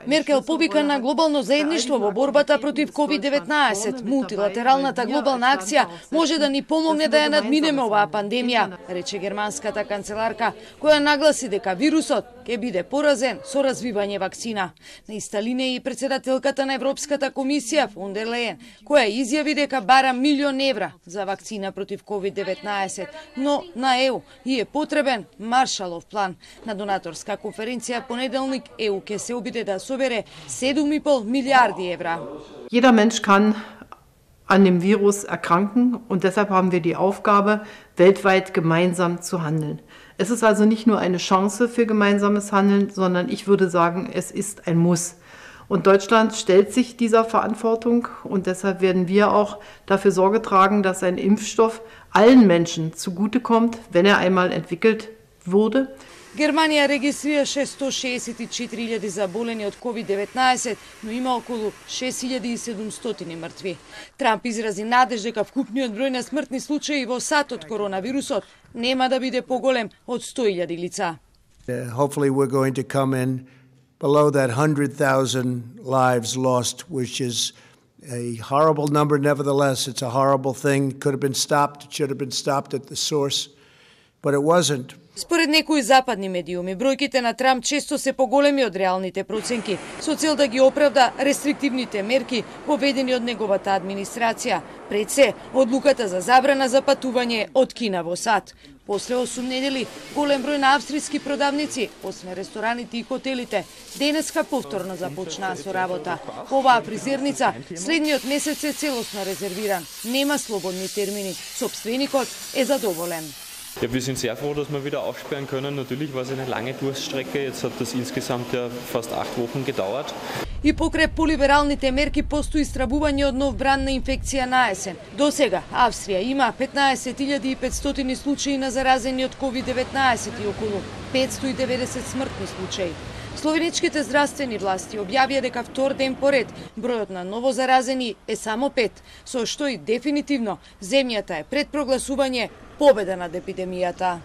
Меркел повика на глобално заедништво во борбата против COVID-19. Мултилатералната глобална акција може да ни помогне да ја надминеме оваа пандемија, рече германската канцеларка, која нагласи дека вирусот ќе биде поразен со развивање вакцина. На иста линија и председателката на Европската комисија фон дер Лејен, која изјави дека бара €1.000.000 за вакцина против COVID-19, но на ЕУ и е потребен Маршалов план. На донаторска конференција понеделник ЕУ ќе се обиде да собере 7,5 милиарди евра. Jeder Mensch kann an dem Virus erkranken und deshalb haben wir die Aufgabe, weltweit gemeinsam zu handeln. Es ist also nicht nur eine Chance für gemeinsames Handeln, sondern ich würde sagen, es ist ein Muss. Und Deutschland stellt sich dieser Verantwortung und deshalb werden wir auch dafür Sorge tragen, dass ein Impfstoff allen Menschen zugutekommt, wenn er einmal entwickelt wurde. Германија регистрираше 164.000 заболени од COVID-19, но има околу 6.700 мртви. Трамп изрази надеж дека вкупниот број на смртни случаи во САД од коронавирусот нема да биде поголем од 100.000 лица. Hopefully we're going to come in below that 100,000 lives lost, which is a horrible number. Nevertheless, it's a horrible thing. Could have been stopped. It should have been stopped at the source, but it wasn't. Според некои западни медиуми, бројките на Трамп често се поголеми од реалните проценки, со цел да ги оправда рестриктивните мерки поведени од неговата администрација. Пред се, одлуката за забрана за патување од Кина во САД. После 8 недели, голем број на австријски продавници, освен рестораните и хотелите, денеска повторно започнаа со работа. Оваа фризерница следниот месец е целосно резервиран. Нема слободни термини. Собственикот е задоволен. Ja, wir sind sehr froh, dass wir wieder aufsperren können. Natürlich war es eine lange Durststrecke. Jetzt hat das insgesamt ja fast 8 Wochen gedauert. И покрај полибералните мерки постои истрабување од нов бран на инфекција на есен. До сега Австрија има 15.500 случаи на заразени од COVID-19 и околу 590 смртни случаи. Словеничките здравствени власти објавија дека втор ден поред бројот на новозаразени е само 5, со што и дефинитивно земјата е пред прогласување победа над епидемијата.